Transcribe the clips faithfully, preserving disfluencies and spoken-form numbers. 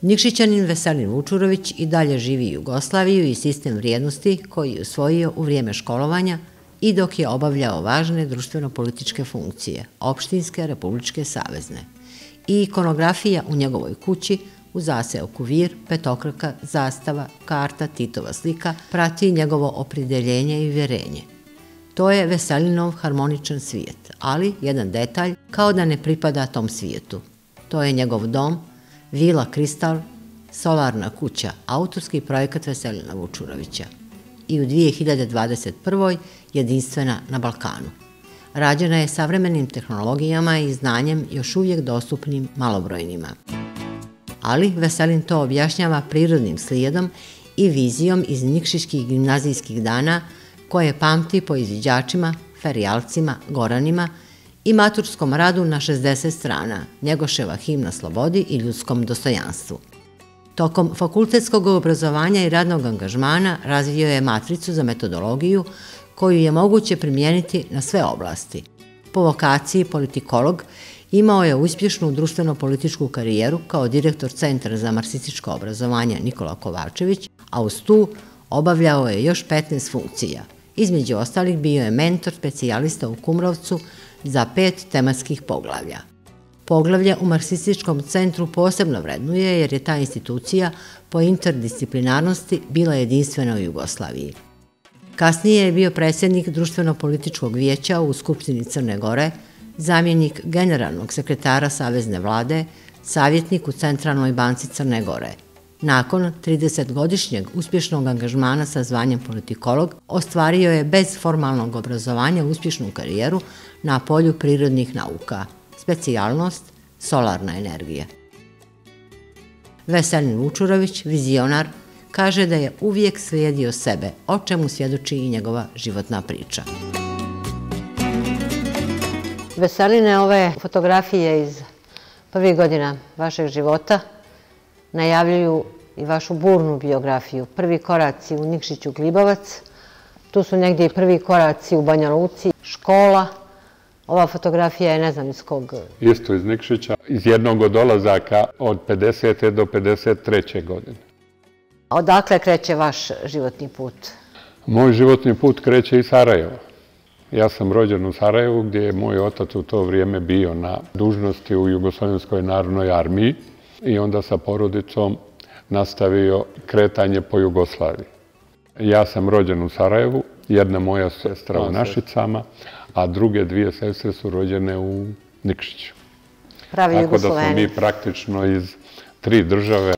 Nikšićanin Veselin Vučurović i dalje živi Jugoslaviju i sistem vrijednosti koji je usvojio u vrijeme školovanja i dok je obavljao važne društveno-političke funkcije, opštinske, republičke, savezne. I ikonografija u njegovoj kući, u zaseoku Vir, petokraka, zastava, karta, Titova slika, prati njegovo opredeljenje i vjerenje. To je Veselinov harmoničan svijet, ali jedan detalj kao da ne pripada tom svijetu. To je njegov dom, Vila Kristal, solarna kuća, autorski projekat Veselina Vučurovića. I u dvije hiljade dvadeset prvoj jedinstvena na Balkanu. Rađena je savremenim tehnologijama i znanjem još uvijek dostupnim malobrojnima. Ali Veselin to objašnjava prirodnim slijedom i vizijom iz nikšićkih gimnazijskih dana koje pamti po izviđačima, ferijalcima, goranima i maturskom radu na šezdeset strana, Njegoševa himna slobodi i ljudskom dostojanstvu. Tokom fakultetskog obrazovanja i radnog angažmana razvio je matricu za metodologiju koju je moguće primijeniti na sve oblasti. Po vokaciji politikolog imao je uspješnu društveno-političku karijeru kao direktor Centra za marksističko obrazovanje Nikola Kovačević, a uz tu obavljao je još petnaest funkcija. Između ostalih bio je mentor specijalista u Kumrovcu za pet tematskih poglavlja. Poglavlje u Marksističkom centru posebno vrednuje jer je ta institucija po interdisciplinarnosti bila jedinstvena u Jugoslaviji. Kasnije je bio predsjednik Društveno-političkog vijeća u Skupštini Crne Gore, zamjenik generalnog sekretara Savezne vlade, savjetnik u Centralnoj banci Crne Gore. Nakon tridesetgodišnjeg uspješnog angažmana sa zvanjem politikolog, ostvario je bez formalnog obrazovanja uspješnu karijeru na polju prirodnih nauka, specijalnost solarna energija. Veselin Vučurović, vizionar, kaže da je uvijek slijedio sebe, o čemu svjedoči i njegova životna priča. Veseline, ove fotografije iz prvih godina vašeg života najavljuju i vašu burnu biografiju. Prvi koraci u Nikšiću Glibovac, tu su negdje i prvi koraci u Banja Luci, škola. Ova fotografija je ne znam iz kog... Isto iz Nikšića, iz jednog od dolazaka od pedesete do pedeset treće godine. Odakle kreće vaš životni put? Moj životni put kreće iz Sarajeva. Ja sam rođen u Sarajevu gdje je moj otac u to vrijeme bio na dužnosti u Jugoslovenskoj narodnoj armiji i onda sa porodicom nastavio kretanje po Jugoslaviji. Ja sam rođen u Sarajevu, jedna moja sestra u Našicama, a druge dvije sestre su rođene u Nikšiću. Pravi Jugosloveni. Tako da smo mi praktično iz tri države,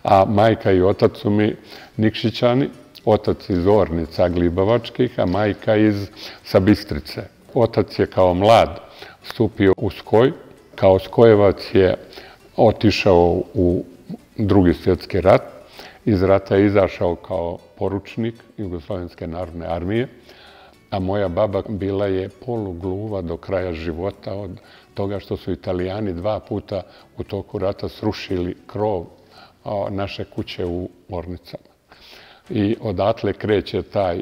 a majka i otac su mi Nikšićani, otac iz Ornica Glibovačkih, a majka iz Sabistrice. Otac je kao mlad stupio u Skoj, kao Skojevac je otišao u Drugi svjetski rat, iz rata je izašao kao poručnik Jugoslovenske narodne armije, a moja baba bila je polugluva do kraja života od toga što su Italijani dva puta u toku rata srušili krov naše kuće u Ornicama. I odatle kreće taj,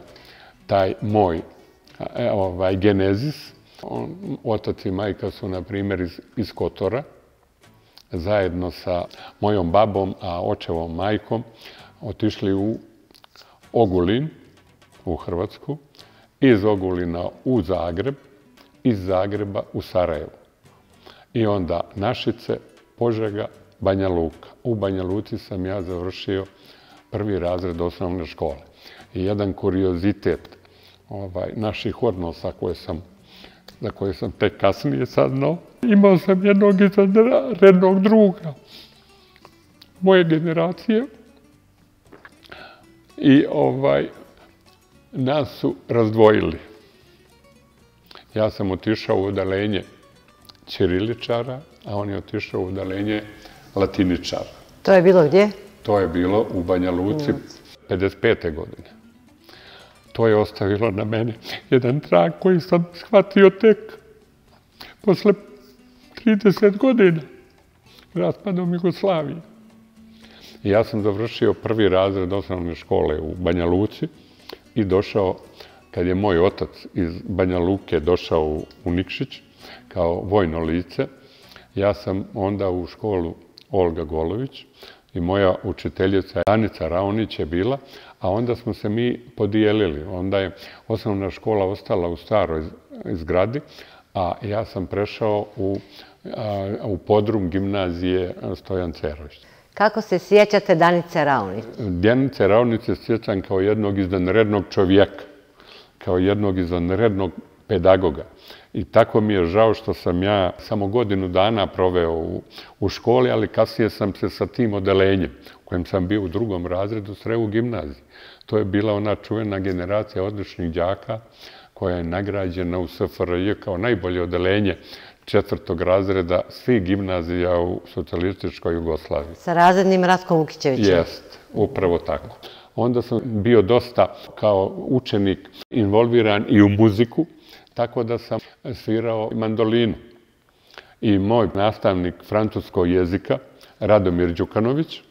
taj moj ovaj, genezis. Otac i majka su, na primjer, iz, iz Kotora, zajedno sa mojom babom, a očevom majkom, otišli u Ogulin, u Hrvatsku, iz Ogulina u Zagreb, iz Zagreba u Sarajevo. I onda Našice, Požega, Banja Luka. U Banja Luci sam ja završio prvi razred osnovne škole. I jedan kuriozitet ovaj, naših odnosa koje sam, za koje sam tek kasnije saznao, imao sam jednog izvanrednog druga moje generacije i ovaj, nas su razdvojili. Ja sam otišao u odalenje ćiriličara, a on je otišao u odalenje latiničara. To je bilo gdje? To je bilo u Banja Luci pedeset pete godine. To je ostavilo na mene jedan trag koji sam shvatio tek posle trideset godina raspadom Jugoslavije. I ja sam završio prvi razred osnovne škole u Banja Luci i došao, kad je moj otac iz Banja Luke došao u Nikšić kao vojno lice, ja sam onda u školu Olga Golović i moja učiteljica Danica Raonić je bila, a onda smo se mi podijelili. Onda je osnovna škola ostala u staroj zgradi, a ja sam prešao u, u podrum gimnazije Stojan Cerović. Kako se sjećate Danice Raonić? Danice Raonić se sjećam kao jednog izvanrednog čovjeka, kao jednog izvanrednog pedagoga. I tako mi je žao što sam ja samo godinu dana proveo u, u školi, ali kasnije sam se sa tim odelenjem, u kojem sam bio u drugom razredu, sreo u gimnaziji. To je bila ona čuvena generacija odličnih đaka koja je nagrađena u S F R J kao najbolje odelenje četvrtog razreda svih gimnazija u socijalističkoj Jugoslaviji. Sa razrednim Ratkom Vukićevićem. Jest, upravo tako. Onda sam bio dosta kao učenik involviran i u muziku, tako da sam svirao mandolinu. I moj nastavnik francuskog jezika, Radomir Đukanović,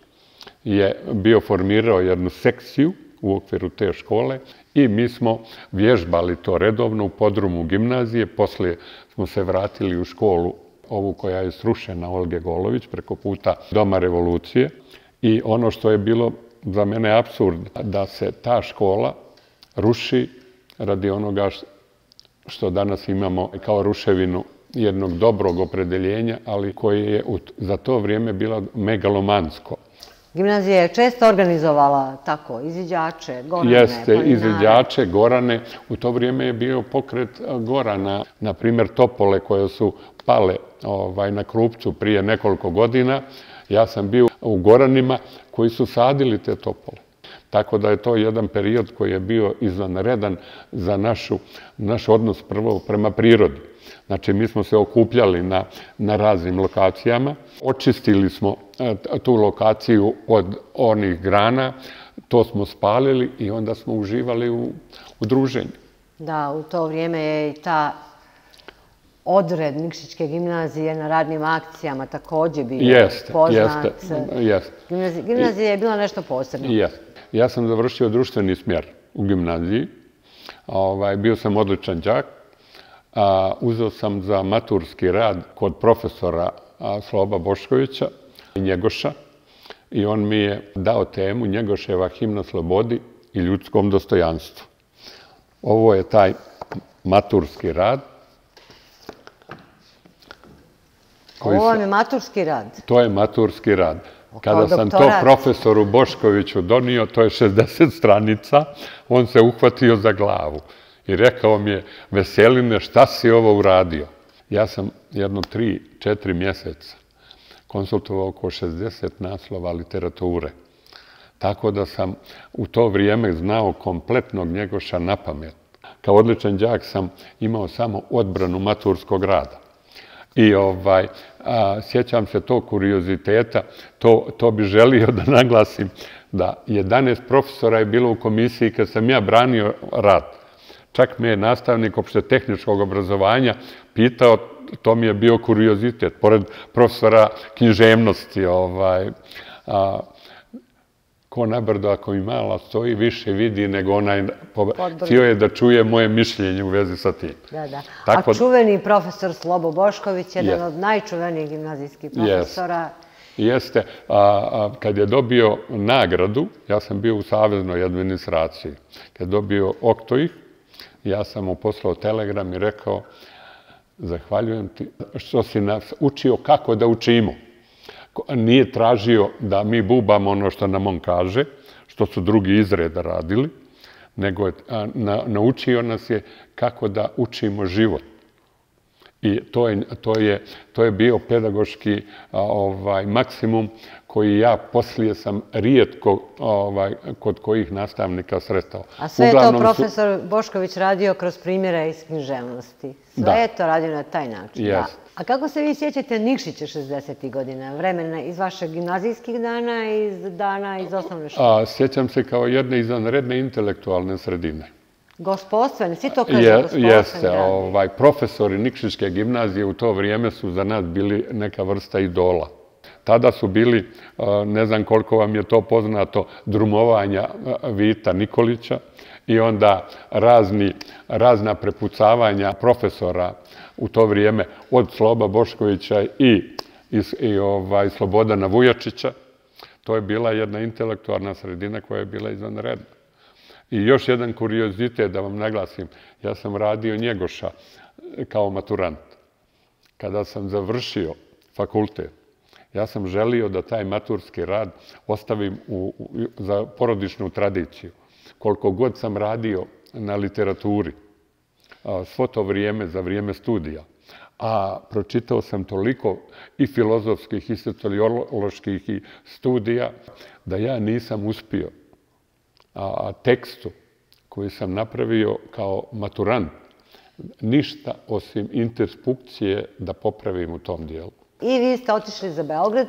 je bio formirao jednu sekciju u okviru te škole i mi smo vježbali to redovno u podrumu gimnazije. Poslije smo se vratili u školu, ovu koja je srušena, Olge Golović, preko puta Doma revolucije. I ono što je bilo za mene apsurd, da se ta škola ruši radi onoga što danas imamo kao ruševinu jednog dobrog opredeljenja, ali koje je za to vrijeme bilo megalomansko. Gimnazija je često organizovala tako izviđače, gorane, Jeste, planinare. izviđače, gorane. U to vrijeme je bio pokret gorana, na primjer topole koje su pale ovaj, na Krupcu prije nekoliko godina. Ja sam bio u goranima koji su sadili te topole. Tako da je to jedan period koji je bio izvanredan za našu, naš odnos prvo prema prirodi. Znači, mi smo se okupljali na, na raznim lokacijama, očistili smo tu lokaciju od onih grana, to smo spalili i onda smo uživali u, u druženju. Da, u to vrijeme je i ta odred Nikšićke gimnazije na radnim akcijama također bio jeste, poznat. Jeste, jeste. Gimnazija, gimnazija je bila nešto posebno. Jeste. Ja sam završio društveni smjer u gimnaziji. Ovaj, bio sam odličan đak. A, uzeo sam za maturski rad kod profesora a, Sloba Boškovića i Njegoša i on mi je dao temu Njegoševa himna slobodi i ljudskom dostojanstvu. Ovo je taj maturski rad. Ovo vam je maturski rad? To je maturski rad. Kada sam to profesoru Boškoviću donio, to je šezdeset stranica, on se uhvatio za glavu i rekao mi je, Veseline, šta si ovo uradio? Ja sam jedno tri, četiri mjeseca konsultovao oko šezdeset naslova literature. Tako da sam u to vrijeme znao kompletnog Njegoša na pamet. Kao odličan đak sam imao samo odbranu maturskog rada. I ovaj, a, sjećam se tog kurioziteta, to, to bi želio da naglasim, da jedanaest profesora je bilo u komisiji kad sam ja branio rad. Čak me je nastavnik opštetehničkog obrazovanja pitao, to mi je bio kuriozitet, pored profesora književnosti, ovaj, a, ko na brdo ako mi mala stoji, više vidi nego onaj, htio je da čuje moje mišljenje u vezi sa tim. Da, da. A čuveni profesor Slobo Bošković, jedan od najčuvenijih gimnazijskih profesora. Jeste. Kad je dobio nagradu, ja sam bio u saveznoj administraciji, kad je dobio oktoih, ja sam mu poslao telegram i rekao, zahvaljujem ti što si nas učio kako da učimo. Nije tražio da mi bubamo ono što nam on kaže, što su drugi izreda radili, nego je, na, naučio nas je kako da učimo život. I to je, to je, to je bio pedagoški ovaj, maksimum koji ja poslije sam rijetko ovaj, kod kojih nastavnika sretao. A sve je to profesor su... Bošković radio kroz primjere iz književnosti. Sve da. Je to radio na taj način. Yes. Da. A kako se vi sjećate Nikšića šezdesetih godina, vremena iz vašeg gimnazijskih dana i iz dana iz osnovne škole? A, sjećam se kao jedne izvanredne intelektualne sredine. Gospodstvene, svi to kažu Je, gospodstvene. Jeste, ovaj, profesori Nikšićke gimnazije u to vrijeme su za nas bili neka vrsta idola. Tada su bili, ne znam koliko vam je to poznato, drumovanja Vita Nikolića i onda razni, razna prepucavanja profesora u to vrijeme od Sloba Boškovića i i Slobodana Vujačića. To je bila jedna intelektualna sredina koja je bila izvanredna. I još jedan kuriozitet da vam naglasim. Ja sam radio Njegoša kao maturant. Kada sam završio fakultet, ja sam želio da taj maturski rad ostavim za porodičnu tradiciju. Koliko god sam radio na literaturi, svo to vrijeme, za vrijeme studija, a pročitao sam toliko i filozofskih i socioloških studija da ja nisam uspio tekstu koji sam napravio kao maturant ništa osim interpunkcije da popravim u tom dijelu. I vi ste otišli za Beograd,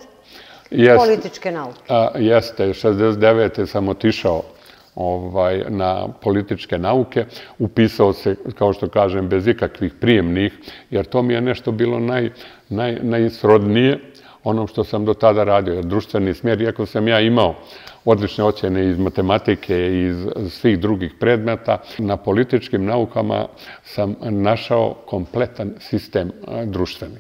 političke nauke. Jeste, šezdeset devete sam otišao na političke nauke, upisao se, kao što kažem, bez ikakvih prijemnih, jer to mi je nešto bilo najsrodnije onom što sam do tada radio, jer društveni smjer, iako sam ja imao odlične ocjene iz matematike i iz svih drugih predmeta, na političkim naukama sam našao kompletan sistem društveni.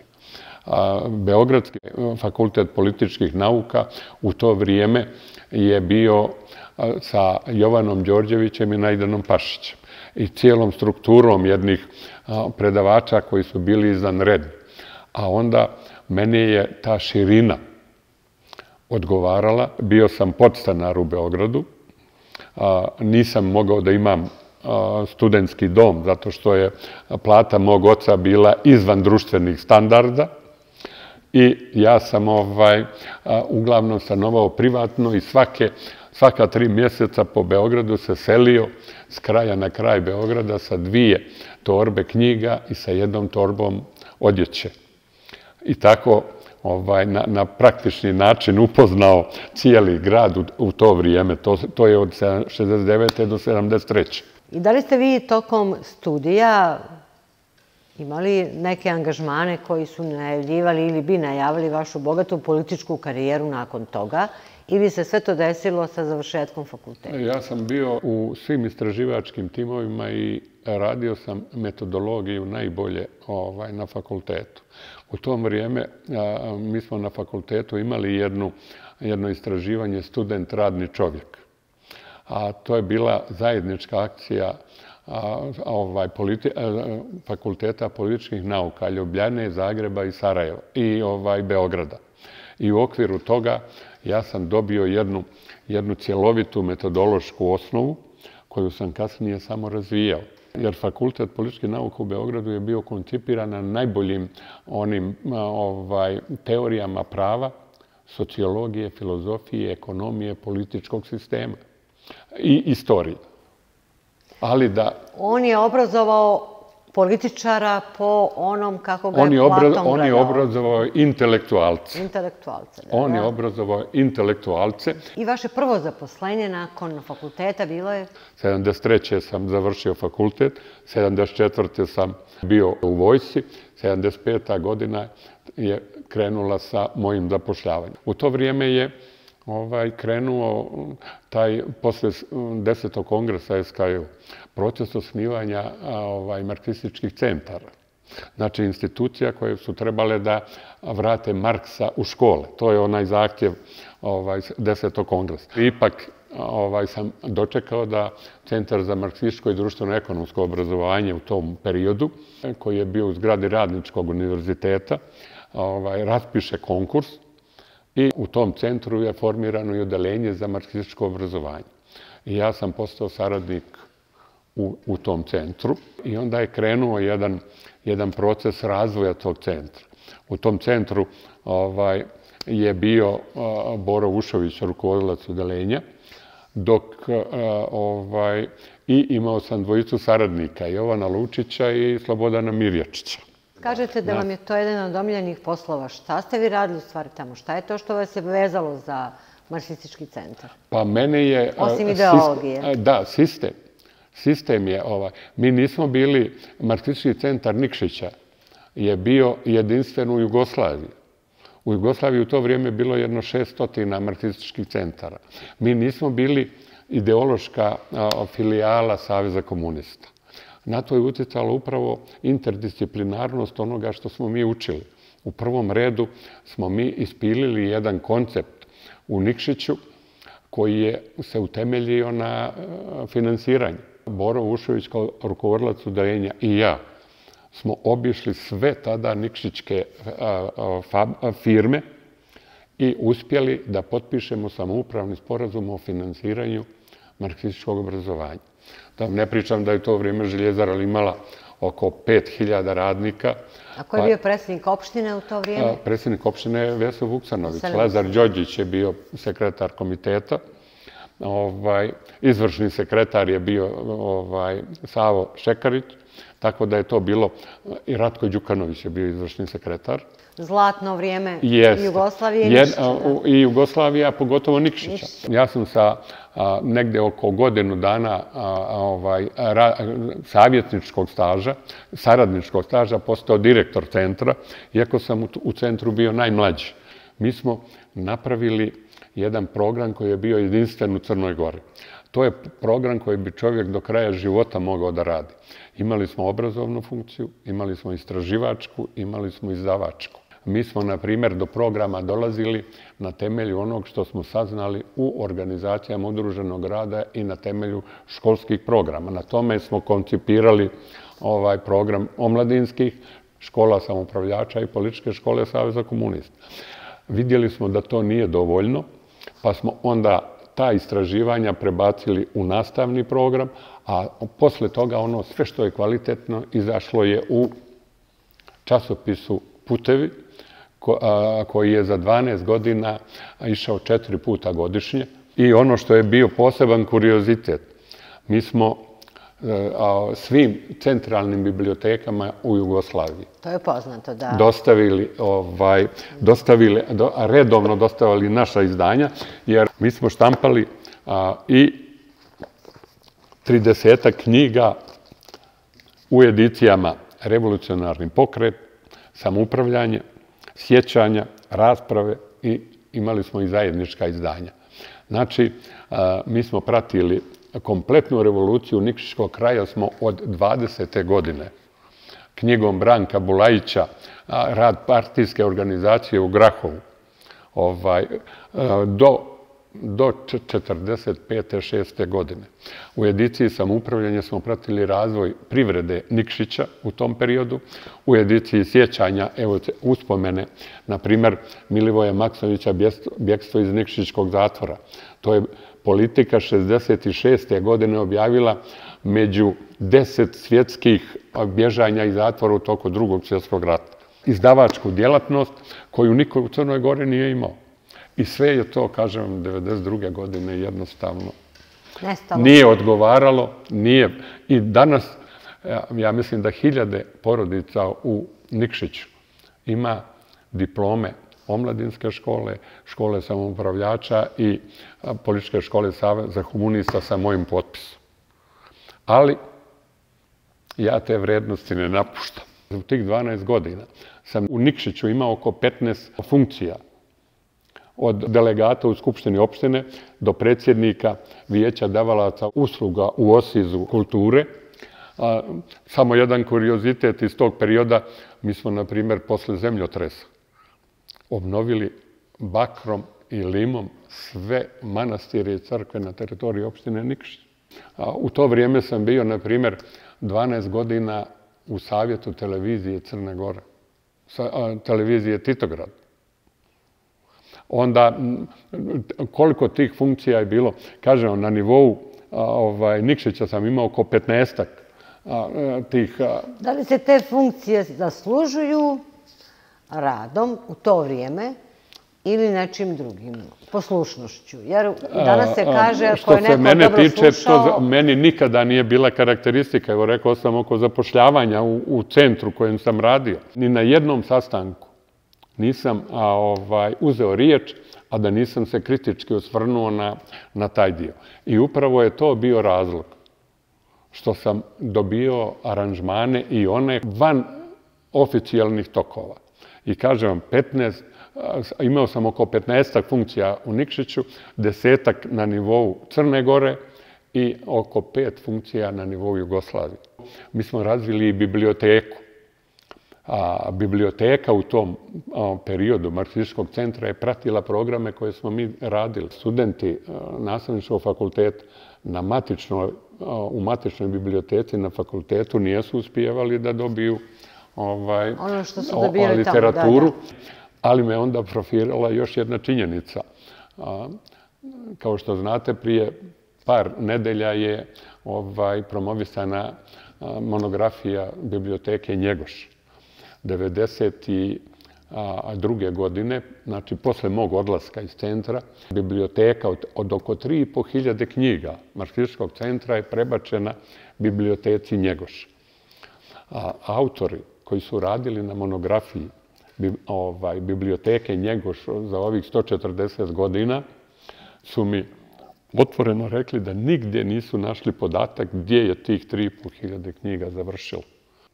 Beogradski fakultet političkih nauka u to vrijeme je bio sa Jovanom Đorđevićem i Najdanom Pašićem i cijelom strukturom jednih predavača koji su bili izvanredni. A onda meni je ta širina odgovarala. Bio sam podstanar u Beogradu. Nisam mogao da imam studentski dom zato što je plata mog oca bila izvan društvenih standarda i ja sam uglavnom stanovao privatno i svaka tri mjeseca po Beogradu se selio s kraja na kraj Beograda sa dvije torbe knjiga i sa jednom torbom odjeće. I tako na praktični način upoznao cijeli grad u to vrijeme. To je od šezdeset devete do sedamdeset treće. I da li ste vi tokom studija imali neke angažmane koji su najavljivali ili bi najavili vašu bogatu političku karijeru nakon toga ili se sve to desilo sa završetkom fakulteta? Ja sam bio u svim istraživačkim timovima i radio sam metodologiju najbolje na fakultetu. U tom vrijeme mi smo na fakultetu imali jedno istraživanje student radni čovjek. A to je bila zajednička akcija Fakulteta političkih nauka Ljubljane, Zagreba i Sarajeva i Beograda. I u okviru toga ja sam dobio jednu cjelovitu metodološku osnovu koju sam kasnije samo razvijao. Jer Fakultet političkih nauka u Beogradu je bio koncipiran na najboljim onim teorijama prava, sociologije, filozofije, ekonomije, političkog sistema i istorije. Ali da... On je obrazovao političara po onom kako ga je Platon gledao. On je obrazovao intelektualce. Intelektualce, da. On je obrazovao intelektualce. I vaše prvo zaposlenje nakon fakulteta bilo je? sedamdeset treće sam završio fakultet, sedamdeset četvrte sam bio u vojsci, sedamdeset peta godina je krenula sa mojim zapošljavanjem. U to vrijeme je krenuo taj, posle desetog kongresa S K J, proces osnivanja marksističkih centara. Znači, institucija koje su trebale da vrate Marksa u škole. To je onaj zahtjev desetog kongresa. Ipak sam dočekao da Centar za marksističko i društveno-ekonomsko obrazovanje u tom periodu, koji je bio u zgradi Radničkog univerziteta, raspiše konkurs i u tom centru je formirano i odeljenje za marksističko obrazovanje. I ja sam postao saradnik u tom centru i onda je krenuo jedan proces razvoja tog centra. U tom centru je bio Boro Vušović, rukovodilac odeljenja, dok i imao sam dvojicu saradnika, Jovana Lučića i Slobodana Mirjačića. Kažete da vam je to jedan od omiljenih poslova. Šta ste vi radili u stvari tamo? Šta je to što vas je vezalo za marksistički centar? Pa mene je... Osim ideologije. Da, sistem. Sistem je ovaj. Mi nismo bili, marksistički centar Nikšića je bio jedinstven u Jugoslaviji. U Jugoslaviji u to vrijeme bilo jedno šeststotina marksističkih centara. Mi nismo bili ideološka filijala Saveza komunista. Na to je utjecala upravo interdisciplinarnost onoga što smo mi učili. U prvom redu smo mi ispilili jedan koncept u Nikšiću koji je se utemeljio na finansiranju. Boro Vušović kao rukovodilac odeljenja i ja smo obišli sve tada nikšićke firme i uspjeli da potpišemo samoupravni sporazum o finansiranju marksističkog obrazovanja. Da ne pričam da je to vrijeme Željezara imala oko pet hiljada radnika. A ko je bio predsjednik opštine u to vrijeme? Predsjednik opštine je Veso Vuksanović. Lazar Đođić je bio sekretar komiteta. Izvršni sekretar je bio Savo Šekarić, tako da je to bilo, i Ratko Đukanović je bio izvršni sekretar. Zlatno vrijeme Jugoslavije i Nikšića. I Jugoslavija, pogotovo Nikšića. Ja sam sa negde oko godinu dana savjetničkog staža, saradničkog staža, postao direktor centra, iako sam u centru bio najmlađi. Mi smo napravili jedan program koji je bio jedinstven u Crnoj Gori. To je program koji bi čovjek do kraja života mogao da radi. Imali smo obrazovnu funkciju, imali smo istraživačku, imali smo izdavačku. Mi smo, na primjer, do programa dolazili na temelju onog što smo saznali u organizacijama udruženog rada i na temelju školskih programa. Na tome smo koncipirali ovaj program omladinskih, škola samoupravljača i političke škole Saveza komunista. Vidjeli smo da to nije dovoljno, pa smo onda ta istraživanja prebacili u nastavni program, a posle toga ono sve što je kvalitetno izašlo je u časopisu Putevi, koji je za dvanaest godina išao četiri puta godišnje. I ono što je bio poseban kuriozitet, mi smo svim centralnim bibliotekama u Jugoslaviji. To je poznato, da. Dostavili, redovno dostavili naša izdanja, jer mi smo štampali i tridesetak knjiga u edicijama Revolucionarni pokret, Samoupravljanje, Sjećanja, Rasprave i imali smo i zajednička izdanja. Znači, mi smo pratili kompletnu revoluciju Nikšićkog kraja smo od dvadesete godine. Knjigom Branka Bulajića, rad partijske organizacije u Grahovu, do četrdeset pete šeste godine. U ediciji Samoupravljanja smo pratili razvoj privrede Nikšića u tom periodu. U ediciji Sjećanja, evo uspomene, na primjer, Milivoja Maksovića Bjekstvo iz Nikšićkog zatvora. To je Politika šezdeset šeste godine objavila među deset svjetskih bježanja iz zatvora u toku drugog svjetskog rata. Izdavačku djelatnost koju niko u Crnoj Gori nije imao. I sve je to, kažem, devedeset druge godine jednostavno nije odgovaralo. I danas, ja mislim da hiljade porodica u Nikšiću ima diplome omladinske škole, škole samoupravljača i političke škole Saveza komunista sa mojim potpisom. Ali ja te vrednosti ne napuštam. U tih dvanaest godina sam u Nikšiću imao oko petnaest funkcija. Od delegata u Skupštini opštine do predsjednika Vijeća davalaca usluga u Osizu kulture. Samo jedan kuriozitet iz tog perioda, mi smo, na primjer, posle zemljotresa obnovili bakrom i limom sve manastire i crkve na teritoriji opštine Nikšić. U to vrijeme sam bio, na primjer, dvanaest godina u savjetu televizije Crne Gore, televizije Titograd. Onda, koliko tih funkcija je bilo, kažem, na nivou Nikšića sam imao oko petnaestak tih... Da li se te funkcije zaslužuju radom u to vrijeme ili nečim drugim, poslušnošću? Jer danas se kaže, ako je neko dobro slušao... Meni nikada nije bila karakteristika, evo rekao sam oko zapošljavanja u centru kojem sam radio. Ni na jednom sastanku nisam uzeo riječ, a da nisam se kritički osvrnuo na taj dio. I upravo je to bio razlog što sam dobio aranžmane i one van oficijalnih tokova. I kažem vam, petnaest, imao sam oko petnaestak funkcija u Nikšiću, desetak na nivou Crne Gore i oko pet funkcija na nivou Jugoslavije. Mi smo razvili i biblioteku. A biblioteka u tom periodu marksističkog centra je pratila programe koje smo mi radili. Studenti nastavničkog fakulteta na matičnoj, u matičnoj biblioteci na fakultetu nijesu uspijevali da dobiju ovaj, ono što su dobili literaturu, tamo, da, da. Ali me onda profilirala još jedna činjenica. A, kao što znate, prije par nedelja je ovaj, promovisana a, monografija biblioteke Njegoš. devedeset druge godine, znači posle mog odlaska iz centra, biblioteka od, od oko tri i po hiljade knjiga marksističkog centra je prebačena biblioteci Njegoš. A autori koji su radili na monografiji bi, ovaj, biblioteke Njegoš za ovih sto četrdeset godina su mi otvoreno rekli da nigdje nisu našli podatak gdje je tih tri i po hiljade knjiga završilo.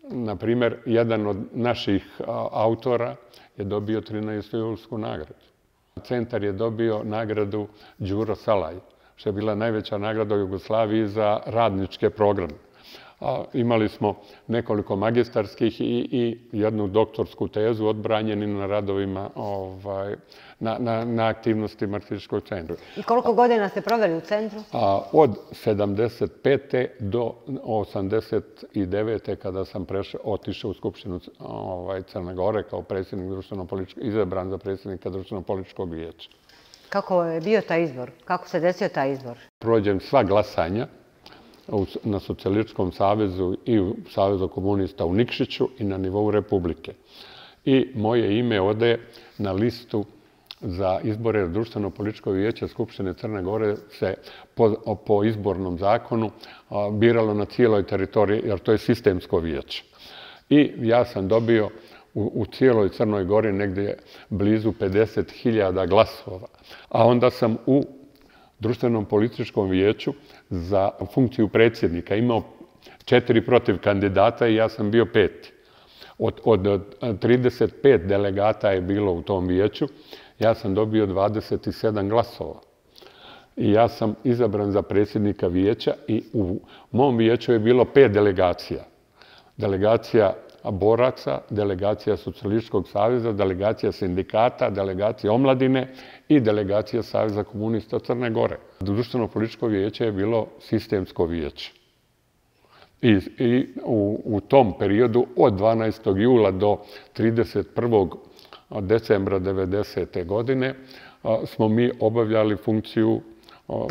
Na primjer, jedan od naših autora je dobio trinaestu julsku nagradu. Centar je dobio nagradu Đuro Salaj, što je bila najveća nagrada u Jugoslaviji za radničke programe. A, imali smo nekoliko magistarskih i, i jednu doktorsku tezu odbranjeni na radovima, ovaj, na, na, na aktivnosti marksističkog centra. I koliko godina ste proveli u centru? A, od sedamdeset pete do osamdeset devete kada sam prešao, otišao u Skupštinu ovaj, Crne Gore kao predsjednik društveno-političkog, izabran za predsjednika društveno-političkog vijeća. Kako je bio taj izbor? Kako se desio taj izbor? Prođem sva glasanja na Socijalističkom savezu i u Savezu komunista u Nikšiću i na nivou Republike. I moje ime ode na listu za izbore društveno-političkog vijeća Skupštine Crne Gore se po, po izbornom zakonu a, biralo na cijeloj teritoriji, jer to je sistemsko vijeće. I ja sam dobio u, u cijeloj Crnoj Gori negdje blizu pedeset hiljada glasova. A onda sam u društvenom političkom vijeću za funkciju predsjednika imao četiri protiv kandidata i ja sam bio peti. Od, od trideset pet delegata je bilo u tom vijeću, ja sam dobio dvadeset sedam glasova. I ja sam izabran za predsjednika vijeća i u mom vijeću je bilo pet delegacija. Delegacija boraca, delegacija Socijalističkog saveza, delegacija sindikata, delegacija omladine i delegacija Saveza komunista Crne Gore. Društveno-političko vijeće je bilo sistemsko vijeće. I, i u, u tom periodu od dvanaestog jula do trideset prvog decembra devedesete godine smo mi obavljali funkciju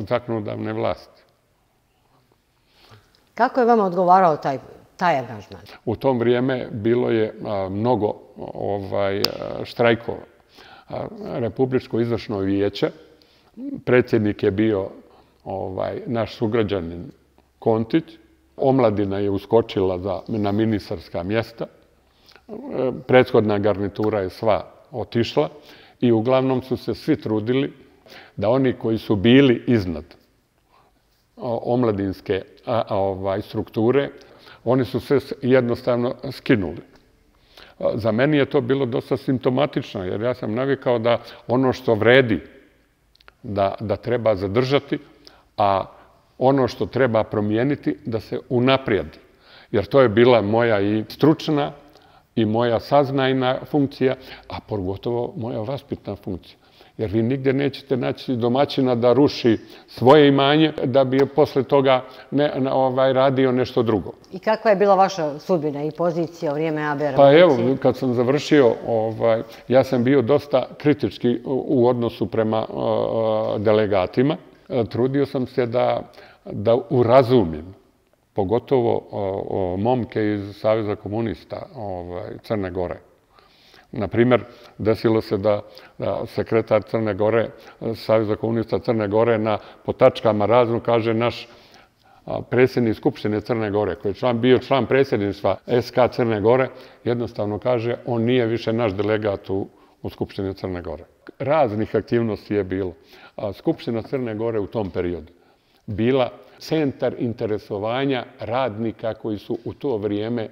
zakonodavne vlasti. Kako je vama odgovarao taj taj angažman? U tom vrijeme bilo je a, mnogo ovaj, štrajkova. A, Republičko izvršno vijeće, predsjednik je bio ovaj, naš sugrađanin Kontić, omladina je uskočila za, na ministarska mjesta, prethodna garnitura je sva otišla i uglavnom su se svi trudili da oni koji su bili iznad omladinske a, a, ovaj, strukture, oni su se jednostavno skinuli. Za meni je to bilo dosta simptomatično, jer ja sam navikao da ono što vredi da, da treba zadržati, a ono što treba promijeniti da se unaprijedi. Jer to je bila moja i stručna i moja saznajna funkcija, a pogotovo moja vaspitna funkcija. Jer vi nigdje nećete naći domaćina da ruši svoje imanje, da bi posle toga ne, ovaj, radio nešto drugo. I kakva je bila vaša sudbina i pozicija u vrijeme A B R? Pa evo, kad sam završio, ovaj, ja sam bio dosta kritički u, u odnosu prema uh, delegatima. Trudio sam se da, da urazumim, pogotovo uh, momke iz Saveza komunista ovaj, Crne Gore. Naprimjer, desilo se da sekretar Crne Gore, Saveza komunista Crne Gore, na potačkama raznu kaže naš predsjednik Skupštine Crne Gore, koji je član, bio član predsjedništva S K Crne Gore, jednostavno kaže on nije više naš delegat u, u Skupštini Crne Gore. Raznih aktivnosti je bilo. Skupština Crne Gore u tom periodu bila centar interesovanja radnika koji su u to vrijeme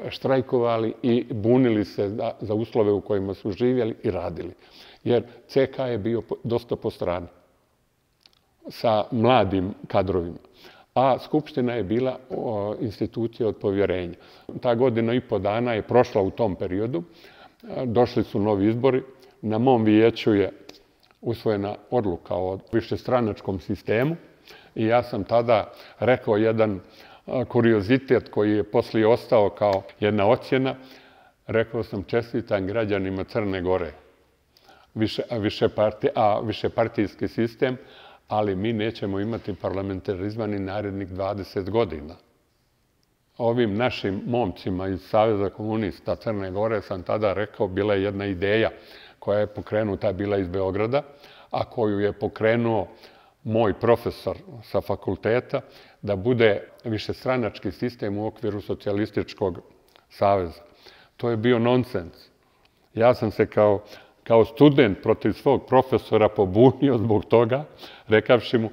štrajkovali i bunili se za uslove u kojima su živjeli i radili. Jer C K je bio dosta po strani sa mladim kadrovima. a Skupština je bila institucija od povjerenja. Ta godina i po dana je prošla u tom periodu. Došli su novi izbori. Na mom vijeću je usvojena odluka o višestranačkom sistemu i ja sam tada rekao jedan kuriozitet koji je poslije ostao kao jedna ocjena. Rekao sam čestitam građanima Crne Gore, a višepartijski sistem, ali mi nećemo imati parlamentarizma ni narednih dvadeset godina. Ovim našim momcima iz Saveza komunista Crne Gore sam tada rekao, bila je jedna ideja koja je pokrenuta, bila iz Beograda, a koju je pokrenuo moj profesor sa fakulteta, da bude višestranački sistem u okviru socijalističkog saveza. To je bio nonsens. Ja sam se kao, kao student protiv svog profesora pobunio zbog toga, rekavši mu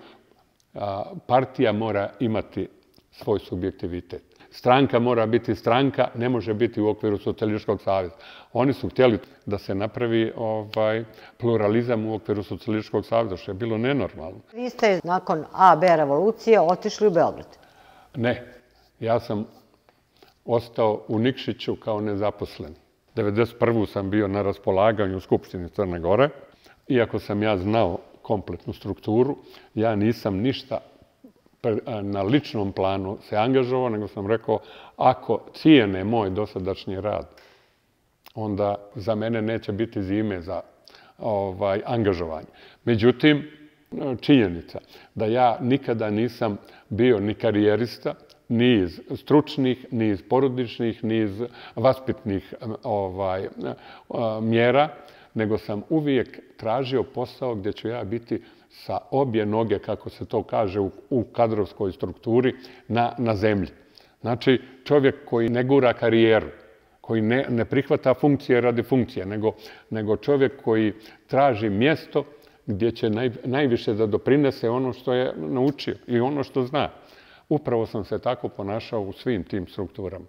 a, partija mora imati svoj subjektivitet. Stranka mora biti stranka, ne može biti u okviru socijalističkog saveza. Oni su htjeli da se napravi ovaj, pluralizam u okviru socijalističkog saveza, što je bilo nenormalno. Vi ste nakon A B revolucije otišli u Beograd? Ne, ja sam ostao u Nikšiću kao nezaposlen. devedeset prve sam bio na raspolaganju u Skupštini Crne Gore. Iako sam ja znao kompletnu strukturu, ja nisam ništa na ličnom planu se angažovao, nego sam rekao, ako cijene moj dosadašnji rad, onda za mene neće biti zime za ovaj, angažovanje. Međutim, činjenica da ja nikada nisam bio ni karijerista, ni iz stručnih, ni iz porodičnih, ni iz vaspitnih ovaj, mjera, nego sam uvijek tražio posao gdje ću ja biti sa obje noge, kako se to kaže u, u kadrovskoj strukturi, na, na zemlji. Znači, čovjek koji ne gura karijeru, koji ne, ne prihvata funkcije radi funkcije, nego, nego čovjek koji traži mjesto gdje će naj, najviše da doprinese ono što je naučio i ono što zna. Upravo sam se tako ponašao u svim tim strukturama.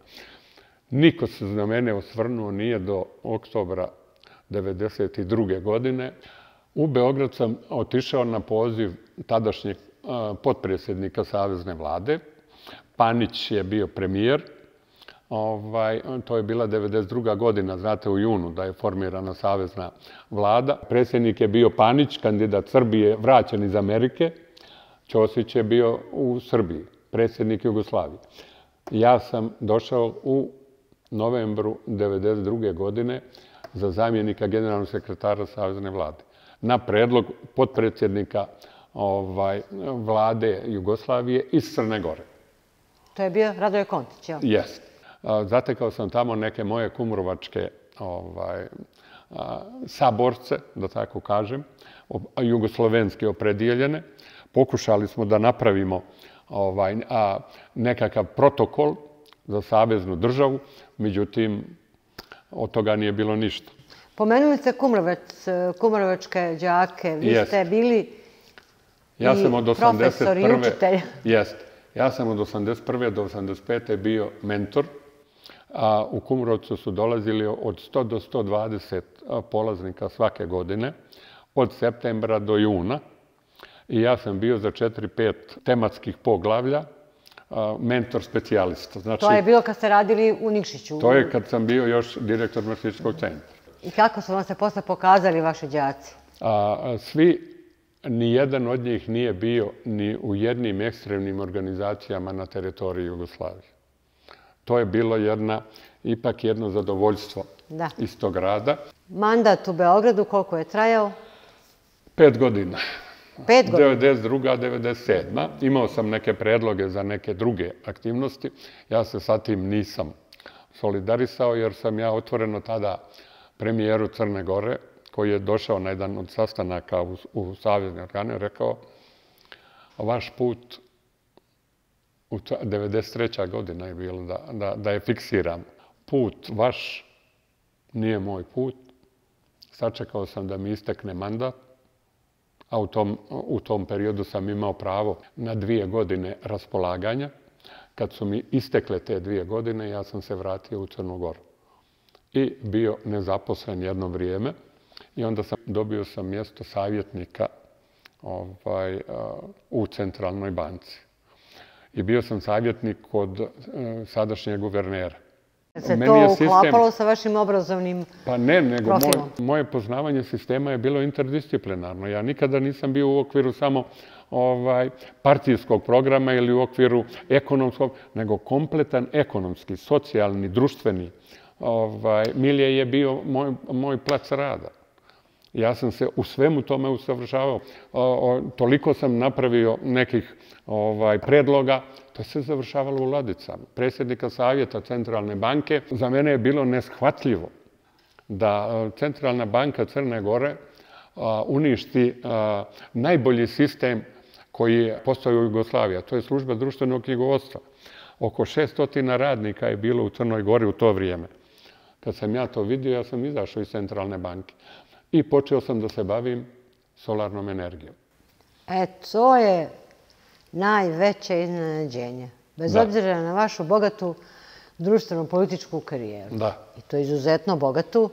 Niko se na mene osvrnuo nije do oktobra devedeset druge godine. U Beograd sam otišao na poziv tadašnjeg potpredsjednika Savezne vlade. Panić je bio premijer. Ovaj, to je bila devedeset druga godina, znate, u junu da je formirana Savezna vlada. Predsjednik je bio Panić, kandidat Srbije, vraćen iz Amerike. Ćosić je bio u Srbiji, predsjednik Jugoslavije. Ja sam došao u novembru devedeset druge godine za zamjenika generalnog sekretara Savezne vlade na predlog potpredsjednika ovaj, vlade Jugoslavije iz Crne Gore. To je bio Radoje Kontić, jel? Jest. Zatekao sam tamo neke moje kumrovačke ovaj, saborce, da tako kažem, jugoslovenski opredijeljene. Pokušali smo da napravimo ovaj, a, nekakav protokol za saveznu državu, međutim, od toga nije bilo ništa. Pomenuli ste Kumrovec, kumrovačke đake, vi Jest. ste bili ja i sam od profesor i učitelj. Jest. Ja sam od osamdeset prve do osamdeset pete bio mentor, a u Kumrovcu su dolazili od sto do sto dvadeset polaznika svake godine, od septembra do juna. I ja sam bio za četiri pet tematskih poglavlja mentor specijalista. Znači, to je bilo kad ste radili u Nikšiću? To je kad sam bio još direktor marksističkog centra. I kako su vam se posle pokazali vaši đaci? A, svi, ni jedan od njih nije bio ni u jednim ekstremnim organizacijama na teritoriji Jugoslavije. To je bilo jedna, ipak jedno zadovoljstvo da. Iz tog rada. Mandat u Beogradu koliko je trajao? Pet godina. Pet godina? devedeset druga devedeset sedma Imao sam neke predloge za neke druge aktivnosti. Ja se sa tim nisam solidarisao jer sam ja otvoreno tada premijeru Crne Gore, koji je došao na jedan od sastanaka u, u savezne organe, rekao vaš put u devedeset treća godina je bilo da, da, da je fiksiram. Put vaš nije moj put. Sačekao sam da mi istekne mandat, a u tom, u tom periodu sam imao pravo na dvije godine raspolaganja. Kad su mi istekle te dvije godine, ja sam se vratio u Crnu Goru i bio nezaposlen jedno vrijeme. I onda sam dobio sam mjesto savjetnika ovaj, u Centralnoj banci. i bio sam savjetnik kod sadašnjeg guvernera. Se to uklapalo sa vašim obrazovnim profilom? Pa ne, nego moje poznavanje sistema je bilo interdisciplinarno. Ja nikada nisam bio u okviru samo partijskog programa ili u okviru ekonomskog, nego kompletan ekonomski, socijalni, društveni milje je bio moj plac rada. Ja sam se u svemu tome usavršavao. Toliko sam napravio nekih predloga, to se završavalo u ladicama. Predsjednika Savjeta Centralne banke, za mene je bilo neshvatljivo da Centralna banka Crne Gore uništi najbolji sistem koji je postojao u Jugoslaviji, a to je služba društvenog knjigovodstva. Oko šesnaest radnika je bilo u Crnoj Gori u to vrijeme. Kad sam ja to vidio, ja sam izašao iz Centralne banke i počeo sam da se bavim solarnom energijom. E, to je najveće iznenađenje. Bez obzira na vašu bogatu društveno-političku karijeru. Da. I to izuzetno bogatu.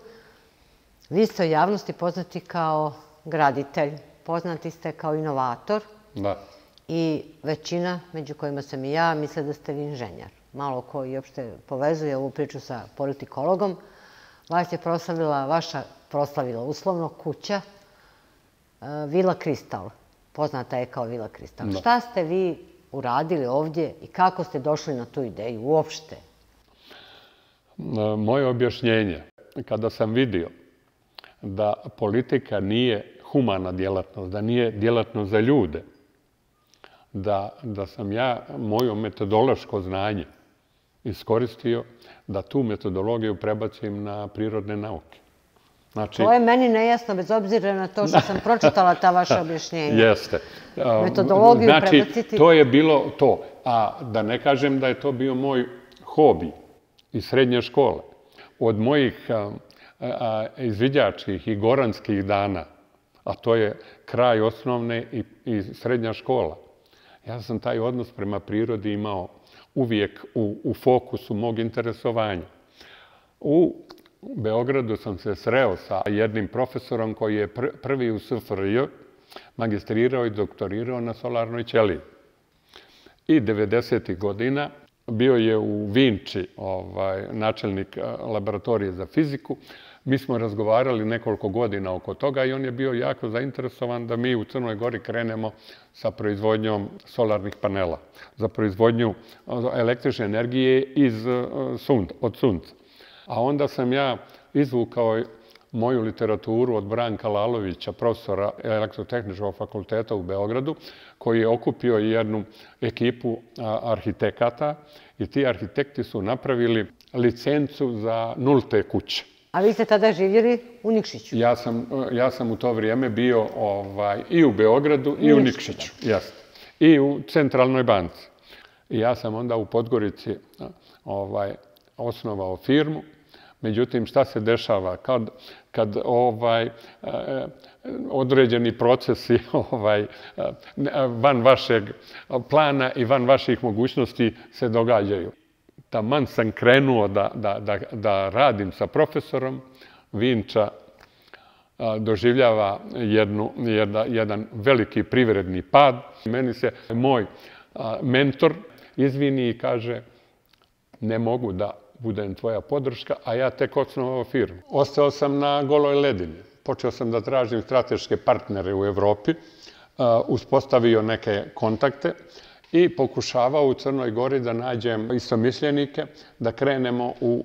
Vi ste u javnosti poznati kao graditelj, poznati ste kao inovator. Da. I većina, među kojima sam i ja, misle da ste vi inženjer. Malo ko i uopšte povezuje ovu priču sa politikologom. Vas je proslavila, vaša proslavila uslovno kuća Vila Kristal. Poznata je kao Vila Kristal. Šta ste vi uradili ovdje i kako ste došli na tu ideju uopšte? Moje objašnjenje, kada sam vidio da politika nije humana djelatnost, da nije djelatnost za ljude, da sam ja moje metodološko znanje iskoristio da tu metodologiju prebacim na prirodne nauke. To je meni nejasno, bez obzira na to što sam pročitala ta vaša objašnjenja. Jeste. Metodologiju prebaciti... Znači, to je bilo to. A da ne kažem da je to bio moj hobi iz srednje škole. Od mojih izviđačkih i goranskih dana, a to je kraj osnovne i srednja škola, ja sam taj odnos prema prirodi imao uvijek u fokusu mog interesovanja. U Beogradu sam se sreo sa jednim profesorom koji je prvi u S F R J magistrirao i doktorirao na solarnoj ćeliji. I devedesetih godina bio je u Vinči načelnik laboratorije za fiziku. Mi smo razgovarali nekoliko godina oko toga i on je bio jako zainteresovan da mi u Crnoj Gori krenemo sa proizvodnjom solarnih panela, za proizvodnju električne energije od sunca. A onda sam ja izvukao moju literaturu od Branka Lalovića, profesora Elektrotehničkog fakulteta u Beogradu, koji je okupio jednu ekipu arhitekata i ti arhitekti su napravili licencu za nulte kuće. A vi ste tada živjeli u Nikšiću? Ja sam u to vrijeme bio i u Beogradu i u Nikšiću. I u Centralnoj banci. I ja sam onda u Podgorici osnovao firmu. Međutim, šta se dešava kad određeni procesi van vašeg plana i van vaših mogućnosti se događaju? Taman sam krenuo da radim sa profesorom, Vinča doživljava jedan veliki privredni pad. Meni se moj mentor izvini i kaže ne mogu da budem tvoja podrška, a ja tek osnovao firmu. Ostao sam na goloj ledini. Počeo sam da tražim strateške partnere u Evropi, uspostavio neke kontakte i pokušavao u Crnoj Gori da nađem istomišljenike, da krenemo u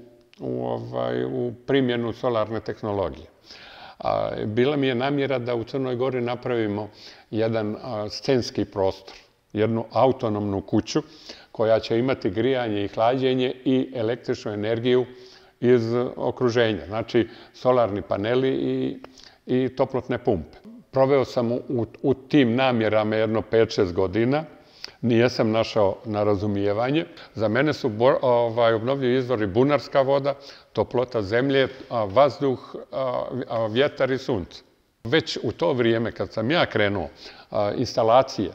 primjenu solarne tehnologije. Bila mi je namjera da u Crnoj Gori napravimo jedan scenski prostor, jednu autonomnu kuću koja će imati grijanje i hlađenje i električnu energiju iz okruženja. Znači, solarni paneli i toplotne pumpe. Proveo sam u tim namjerama jedno pet šest godina. Nijesam našao na razumijevanje. Za mene su obnovljivi izvori bunarska voda, toplota zemlje, vazduh, vjetar i sunce. Već u to vrijeme kad sam ja krenuo, instalacije